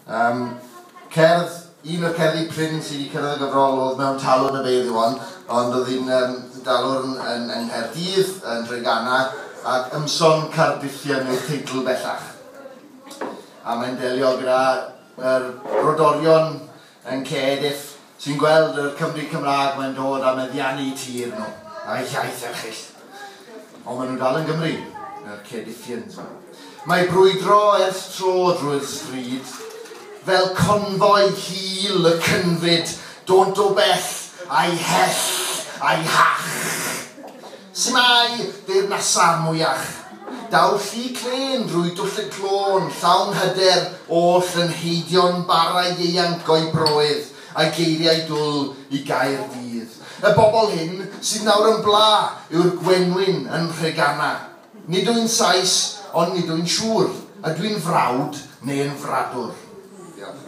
Um, cerdd, un o'r cerddi prin sydd wedi cyrraedd y gyfrol oedd mewn talwrn y beirdd Iwan, ond oedd hi'n um, dalwrn yn, yng Nghaerdydd, yn Treganna, ac Ymson Cardiffian yw'r teitl bellach. A mae'n delio gyda yr brodorion yn Cardiff sy'n gweld yr Cymry Cymraeg mae'n dod a meddiannu tir nhw, a'i hiaith erchyll. Ond maen nhw dal yn Gymry, yr Cerdiffians 'ma. Mae brwydro ers tro drwy'r stryd, fel confoi hil y cynfyd, dônt o bell, a'i hell, a'i hach. S'mae deyrnasa mwyach. Daw llu clên drwy dwll y clôn, llawn hyder, oll yn heidio'n bara ieuanc o'i broedd, a'i geiriau dwl i Gaerdydd. Y bobl hyn, sydd nawr yn bla, yw'r gwenwyn yn Nhreganna. Nid wy'n Sais, ond nid wy'n siŵr. Ydw i'n frawd neu yn fradwr? Diolch.